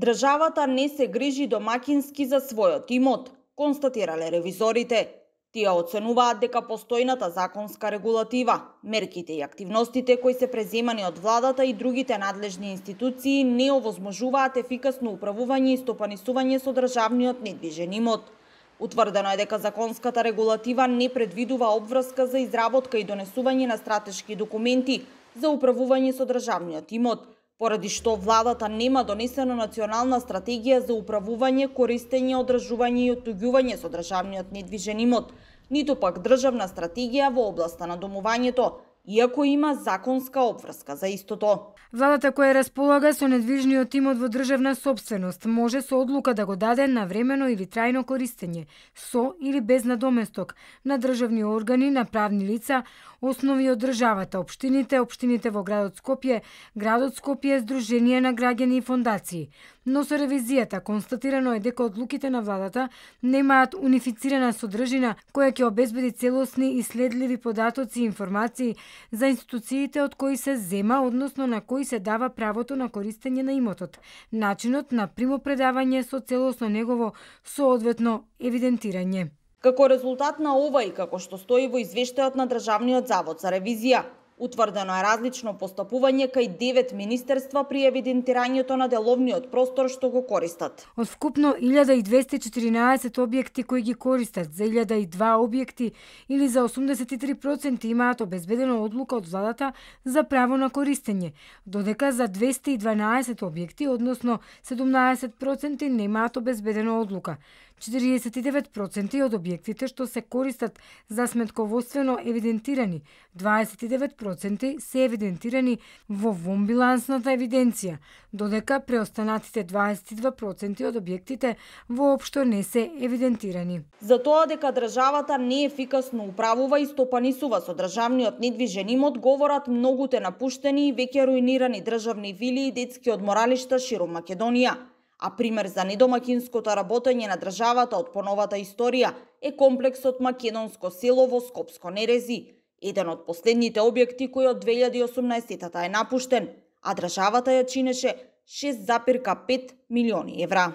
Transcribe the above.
Државата не се грижи домакински за својот имот, констатирале ревизорите. Тие оценуваат дека постојната законска регулатива, мерките и активностите кои се преземани од владата и другите надлежни институции не овозможуваат ефикасно управување и стопанисување со државниот недвижен имот. Утврдено е дека законската регулатива не предвидува обврска за изработка и донесување на стратешки документи за управување со државниот имот, поради што владата нема донесена национална стратегија за управување, користење, одржување и оттуѓување со државниот недвижен имот, ниту пак државна стратегија во областа на домувањето, иако има законска обврска за истото. Владата која располага со недвижниот имот во државна сопственост може со одлука да го даде на времено или трајно користење, со или без надоместок, на државни органи, на правни лица, основи од државата, општините во градот Скопје, Сдружение на граѓани и фондации. Но со ревизијата констатирано е дека одлуките на владата немаат унифицирана содржина која ќе обезбеди целосни и следливи податоци и информации за институциите од кои се зема, односно на кои се дава правото на користење на имотот, начинот на примопредавање со целосно негово соодветно евидентирање. Како резултат на ова и како што стои во извештајот на Државниот завод за ревизија, утврдено е различно постапување кај 9 министерства при евидентирањето на деловниот простор што го користат. Од вкупно 1214 објекти кои ги користат, за 1002 објекти или за 83% имаат обезбедена одлука од владата за право на користење, додека за 212 објекти, односно 17% немаат обезбедена одлука. 49% од објектите што се користат за сметководствено евидентирани, 29% се евидентирани во вонбилансната евиденција, додека преостанатите 22% од објектите воопшто не се евидентирани. За тоа дека државата не ефикасно управува и стопанисува со државниот недвижен имот говорат многуте напуштени и веќе руинирани државни вили и детски одморалишта ширум Македонија. А пример за недомакинското работење на државата од поновата историја е комплексот Македонско село во Скопско Нерези, еден од последните објекти кој од 2018 е напуштен, а државата ја чинеше 6,5 милиони евра.